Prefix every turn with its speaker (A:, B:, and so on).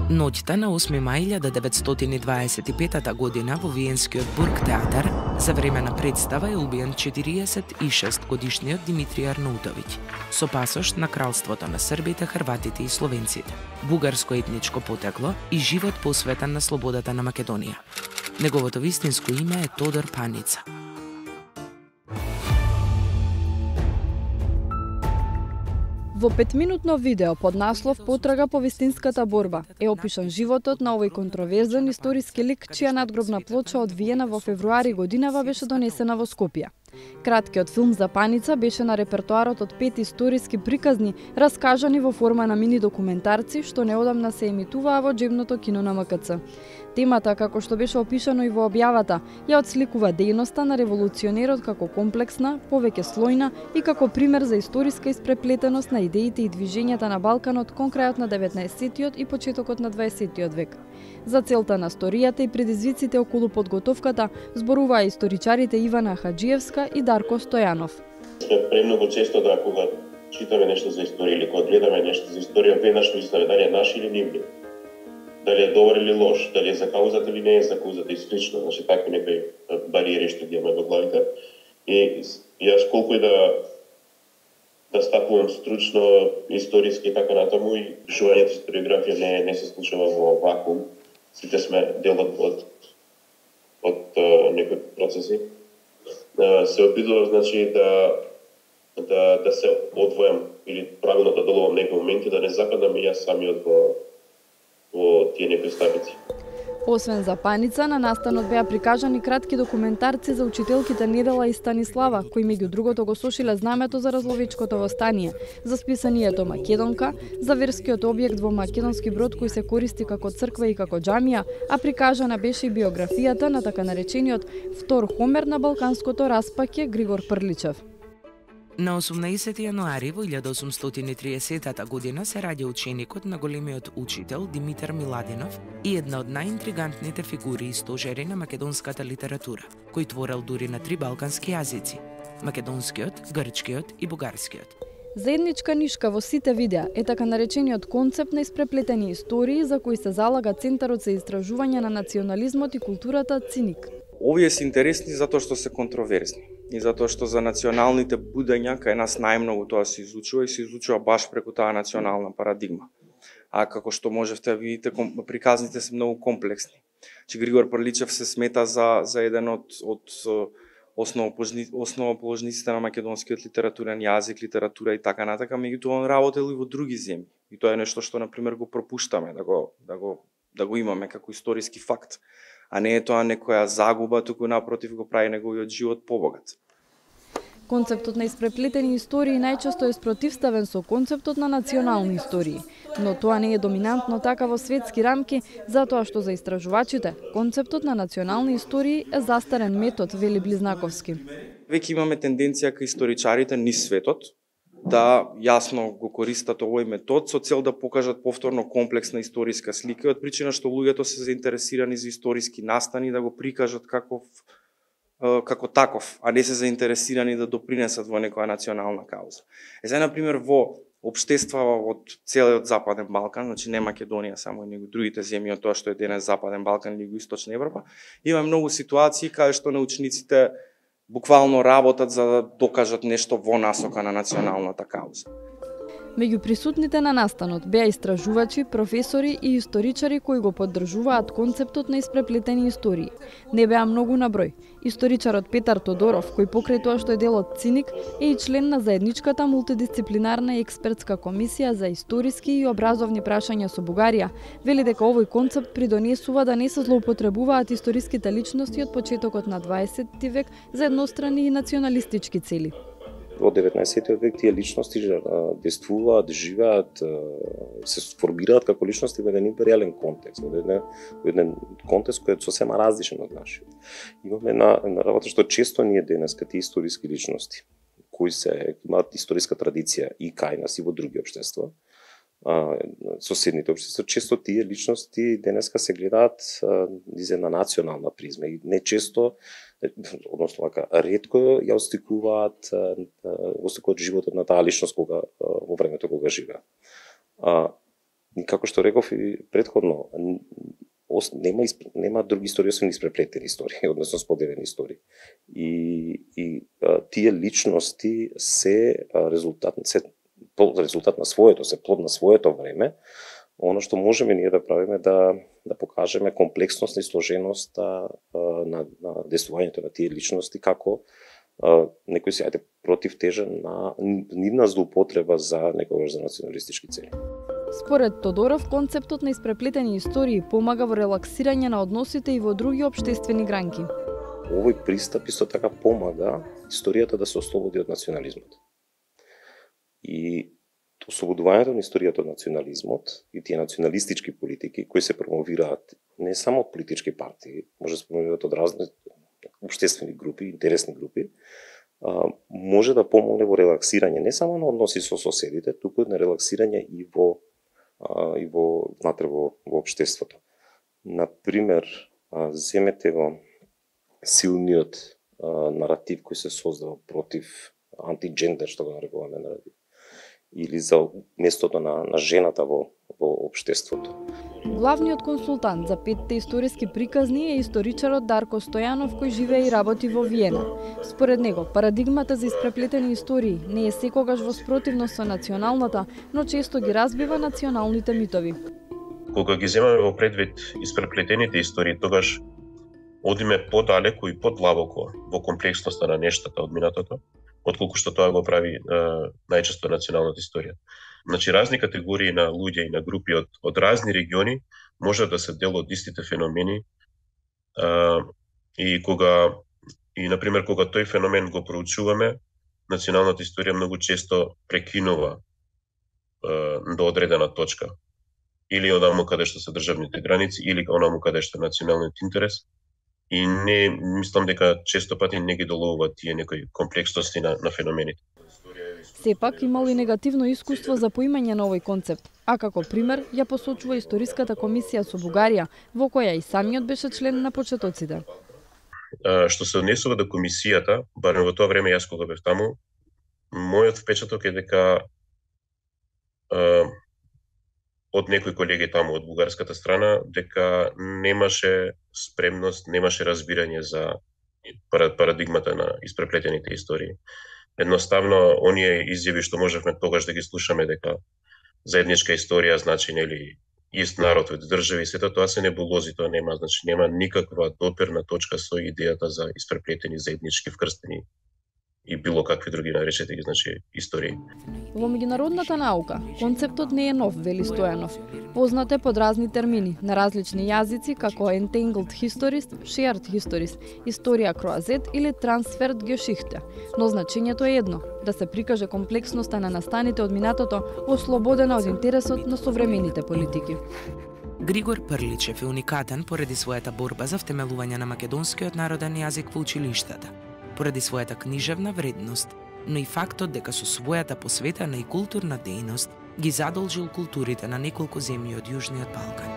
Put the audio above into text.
A: Ноќта на 8 мај 1925 година во Виенскиот Бургтеатар за време на представа е убиен 46-годишниот Димитрий Арнаутовиќ, со пасош на кралството на србите, хрватите и словенците, бугарско етничко потекло и живот посветен на слободата на Македонија. Неговото вистинско име е Тодор Паница.
B: Во 5-минутно видео под наслов "Потрага по вистинската борба" е опишан животот на овој контроверзен историски лик, чија надгробна плоча од Виена во февруари годинава беше донесена во Скопје. Краткиот филм за Паница беше на репертоарот од 5 историски приказни, раскажани во форма на мини документарци, што неодамна се емитуваа во џебното кино на МКЦ. Темата, како што беше опишано и во објавата, ја отсликува дејноста на револуционерот како комплексна, повеќе слојна и како пример за историска испреплетеност на идеите и движењата на Балканот кон крајот на 19-тиот и почетокот на 20-тиот век. За целта на сторијата и предизвиците околу подготовката зборуваа историчарите Ивана Хаџиевска и Дарко Стојанов.
C: Сме премногу често да кога читаме нешто за историја или кога гледаме нешто за историја, веднаш мислиме дали е наш или нивни. Дали е добар или лош, дали е за каузата или не е за каузата и слично, значи такви некои бариери што ги имаме во главите. И јас колку и да стапувам стручно, историски и така натаму, и пишувањето историографија не се случува во вакуум. Сите сме дел од некои процеси. Се обидувам, значи, да се одвојам или правилно да делувам некои моменти, да не западам и јас самиот во тие некои стапици.
B: Освен за Паница, на настанот беа прикажани кратки документарци за учителките Недела и Станислава, кои меѓу другото го сошиле знамето за разловечкото востание, за списанието Македонка, за верскиот објект во македонски брод кој се користи како црква и како џамија, а прикажана беше и биографијата на така наречениот втор Хомер на балканското распаќе Григор Прличев.
A: На 18 јануари во 1830 година се раѓа ученикот на големиот учител Димитар Миладинов и една од најинтригантните фигури и стожери на македонската литература, кој творел дури на 3 балкански јазици – македонскиот, грчкиот и бугарскиот.
B: Заедничка нишка во сите видеа е така наречениот концепт на испреплетени истории за кои се залага Центарот за истражување на национализмот и културата ЦИНИК.
D: Овие се интересни затоа што се контроверзни и затоа што за националните будења кај нас најмногу тоа се изучува и се изучува баш преку таа национална парадигма. А како што можевте да видите, приказните се многу комплексни. Че Григор Прличев се смета за еден од основоположниците на македонскиот литературен јазик, литература и така натака, меѓутоа он работел и во други земји. И тоа е нешто што на пример го пропуштаме да го имаме како историски факт. А не е тоа некоја загуба, туку напротив го прави неговиот живот побогат.
B: Концептот на испреплетени истории најчесто е спротивставен со концептот на национални истории, но тоа не е доминантно така во светски рамки, затоа што за истражувачите концептот на национални истории е застарен метод, вели Близнаковски.
D: Веќе имаме тенденција кај историчарите низ светот да јасно го користат овој метод со цел да покажат повторно комплексна историска слика, од причина што луѓето се заинтересирани за историски настани да го прикажат како таков, а не се заинтересирани да допринесат во некоја национална кауза. Сега, например, во општества од целиот Западен Балкан, значи не Македонија само, него другите земји од тоа што е денес Западен Балкан или Југоисточна Европа, има многу ситуации каде што научниците буквално работат за да докажат нешто во насока на националната кауза.
B: Меѓу присутните на настанот беа истражувачи, професори и историчари кои го поддржуваат концептот на испреплетени истории. Не беа многу на број. Историчарот Петар Тодоров, кој покрај тоа што е дел од ЦИНИК, е и член на заедничката мултидисциплинарна експертска комисија за историски и образовни прашања со Бугарија, вели дека овој концепт придонесува да не се злоупотребуваат историските личности од почетокот на 20 век за еднострани и националистички цели.
E: Во 19 век тие личности действуваат, живеат, се сформираат како личности во еден империјален контекст, во еден контекст кој е сосема различен од нашиот. Имаме на работа што често ние денеска тие историски личности кои имаат историска традиција и кај нас и во други општества, соседните општества, често тие личности денеска се гледаат из една национална призма и не често, односно ретко ја остикуваат животот на таа личност во времето кога живеа. како што реков и претходно, нема други истории освен испреплетени истории, односно споделени истории. И тие личности се резултат на своето, се плод на своето време. Оно што можеме ние да правиме да покажеме комплексност и сложеност на действувањето на тие личности како некој си против тежа на нивна злоупотреба за некогаш за националистички цели.
B: Според Тодоров, концептот на испреплетени истории помага во релаксирање на односите и во други општествени гранки.
E: Овој пристап исто така помага историјата да се ослободи од национализмот. И ослободувањето на историјата од национализмот и тие националистички политики кои се промовираат не само од политички партии, може да се промовираат од разни општествени групи, интересни групи, може да помогне во релаксирање не само на односи со соседите, туку на релаксирање и внатре во општеството. Например, земете го силниот наратив кој се создава против антиджендер, што го нарекуваме наратив, или за местото на жената во општеството.
B: Главниот консултант за 5 историски приказни е историчарот Дарко Стојанов, кој живее и работи во Виена. Според него, парадигмата за испреплетени истории не е секогаш во спротивност со националната, но често ги разбива националните митови.
C: Кога ги земаме во предвид испреплетените истории, тогаш одиме подалеку и подлабоко во комплексноста на нештата од минатото, отколку што тоа го прави најчесто националната историја. Значи, разни категории на луѓе и на групи од разни региони може да се дел од истите феномени и например, кога тој феномен го проучуваме, националната историја многу често прекинува до одредена точка. Или онаму каде што се државните граници, или онаму каде што е националниот интерес. И не мислам дека често пати не ги доловуваат тие некои комплексности на феномените.
B: Сепак имало и негативно искуство за поимање на овој концепт, а како пример ја посочува Историската комисија со Бугарија, во која и самиот беше член на почетоците.
C: Што се однесува до комисијата, барем во тоа време јас кога бев таму, мојот впечаток е дека од некои колеги таму од бугарската страна, дека немаше спремност, немаше разбирање за парадигмата на испреплетените истории. Едноставно, оние изјави што можевме тогаш да ги слушаме дека заедничка историја значи нели ист народ од држави, сето тоа се небулози, тоа нема, значи нема никаква доперна точка со идејата за испреплетени заеднички вкрстени и било какви други наречете ги, значи, истории.
B: Во меѓународната наука, концептот не е нов, вели Стојанов. Познат е под разни термини, на различни јазици, како entangled histories, shared histories, историја кроазет или transferred geschichte. Но значењето е едно, да се прикаже комплексноста на настаните од минатото, ослободена од интересот на современите политики.
A: Григор Прличев е уникатен поради својата борба за втемелување на македонскиот народен јазик во училиштата, поради својата книжевна вредност, но и фактот дека со својата посветена и културна дејност ги задолжил културите на неколку земји од Јужниот Балкан.